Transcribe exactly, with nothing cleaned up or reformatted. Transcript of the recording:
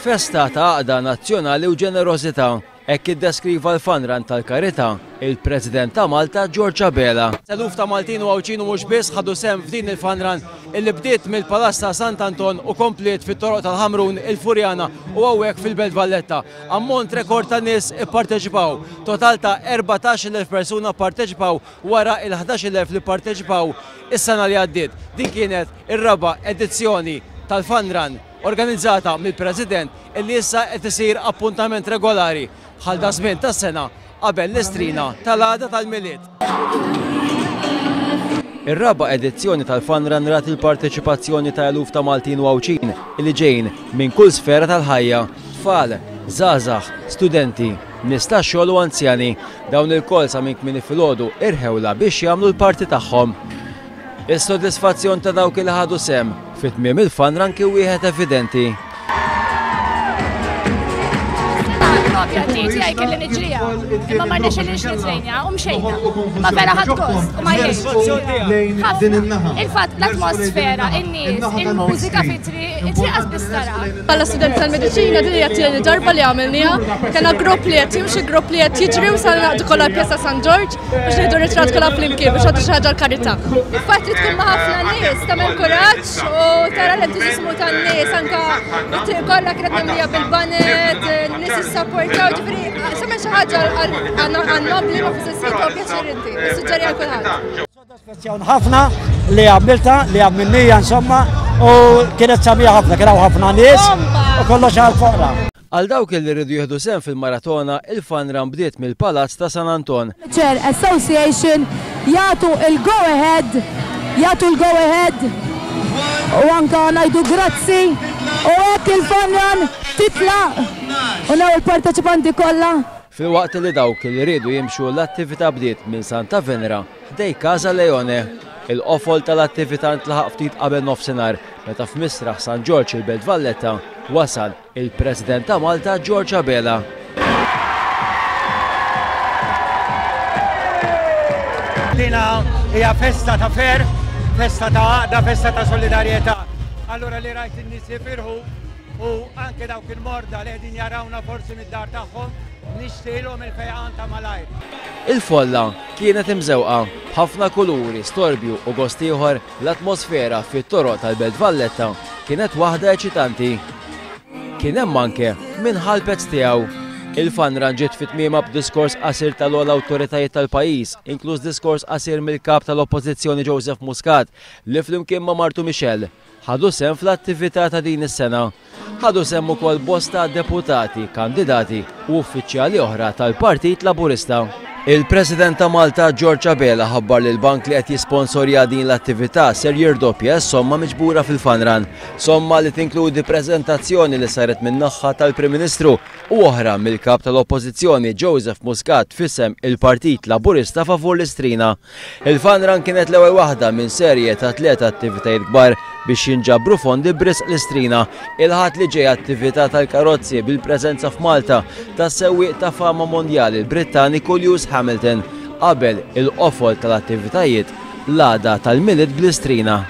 Festa ta' għaqda nazzjonali u ġenerożità, hekk iddeskriva l-Fun Run tal-Karità il-President ta' Malta George Abela. Eluf ta' Maltin u Għawdxin u mhux biss ħadu sehem f'din il-Fun Run illi bdiet mill-Palazz ta' Sant'Anton u kompliet fit-toroq tal-Ħamrun, il-Furjana u hawnhekk fil-Belt Valletta. Ammont rekord ta' nies ipparteċipaw. Total ta' erbatax-il elf persuna pparteċipaw wara il-ħdax-il elf li pparteċipaw is-sena li għaddiet. Din kienet ir-raba' edizzjoni tal-Fun Run organizzata mill-President, illi issa qed isir appuntament regolari bħal daż-żmien tas-sena qabel l-Istrina tal-għada tal-Milied. Ir-raba' edizzjoni tal-Fun Run rat il-parteċipazzjoni ta' eluf ta' Maltin u Għawdxin illi ġejjin minn kull sfera tal-ħajja, tfal, żgħażagħ, studenti, nies tax-xogħol u anzjani. Dawn ilkoll sa minn kmieni filgħodu irħewla biex jagħmlu l-parti tagħhom. Is-sodisfazzjon ta' dawk li ħadu sehem fit-tmiem il-Fun Run kien wieħed evidenti. Propja tiegħi kelli niġriha. Imma ma rnexxilix nitrejnja u mxejna. Ma vera ħadt gost u ma jgħid. Ħafna. Il-fatt l-atmosfera, in-nies, il-mużika fit-triq, it-triq biss tara. Bħala student tal-mediċina, din hija t-tieni darba li għamilniha. Kellna grupp li qed jimxi, grupp li qed jiġri u sa naqdu kollha Pjazza San Ġorġ biex nieħdu ritratt kollha flimkien biex għadu xi ħaġa l-karità. Il-fatt li tkun ma' ħafna nies tagħmel kuraġġ u tara l-entużismu tan-nies, anka it-triq kollha kienet mimlija bil-baned, n-nies jissapportaw, ġifieri tagħmel xi ħaġa għan-nobli ma fl-istess ħin tieħu pjaċir inti. Nissuġġeri għal kulħadd. Sodisfazzjon ħafna li għamilta, li għamilnija insomma, u kienet sabiħa ħafna, kien hawn ħafna nies u kollox għal foqra. Għal dawk li rridu jieħdu sehem fil-maratona, il-Fun Run bdiet mill-Palazz ta' San Anton. Chair Association jagħtu il-go ahead, jagħtu l-go ahead u anka ngħidu grazzi u hekk il-Fun Run titlaq u naw il-parteċipanti kollha. Filwaqt li dawk li rridu jimxu, l-attività bdiet minn Santa Venera ħdejn Casa Leone. Il-qofol tal-attività ntlaħaq ftit qabel nofsinhar meta f'Misraħ San Ġorġ il-Belt Valletta wasal il-President ta' Malta George Abela. Dina hija festa ta' ferħ, festa ta' għaqda, festa ta' solidarjetà. Allura li rajt in-nies jifirħu u anke dawk il-morda li qegħdin jarawna forsi mid-dar tagħhom, nixtielhom il-fejqan ta' malajr. Il-folla kienet imżewqa b'ħafna kuluri, storbju u gost ieħor. L-atmosfera fit-toroq tal-Belt Valletta kienet waħda eċitanti. Kien hemm anke min ħa l-pezz tiegħu. Il-Fun Run ġiet fit-tmiema b'diskors qasir tal-ogħla awtoritajiet tal-pajjiż, inkluż diskors qasir mill-kap tal-Oppożizzjoni Joseph Muscat, li flimkien ma' martu Michelle ħadu sehem fl-attività ta' din is-sena. Ħadu sehem ukoll bosta deputati, kandidati u uffiċjali oħra tal-Partit Laburista. Il-President ta' Malta George Abela ħabbar li l-bank li qed jisponsorja din l-attività ser jirdoppja s-somma miġbura fil-Fun Run. Somma li tinkludi preżentazzjoni li saret min-naħa tal-Prim Ministru u oħra mill-kap tal-Oppożizzjoni Joseph Muscat f'isem il-Partit Laburista favur l-Istrina. Il-Fun Run kienet l-ewwel waħda minn serje ta' tliet attivitajiet kbar biex jinġabru fondi b'risq l-Istrina. Il-Ħadd li ġej attività tal-karozzi bil-preżenza f'Malta ta' sewwieq ta' fama mondjali, il-Brittaniku Lewis Hamilton, qabel il-qofol tal-attivitajiet l-għada tal-Milied bl-Istrina.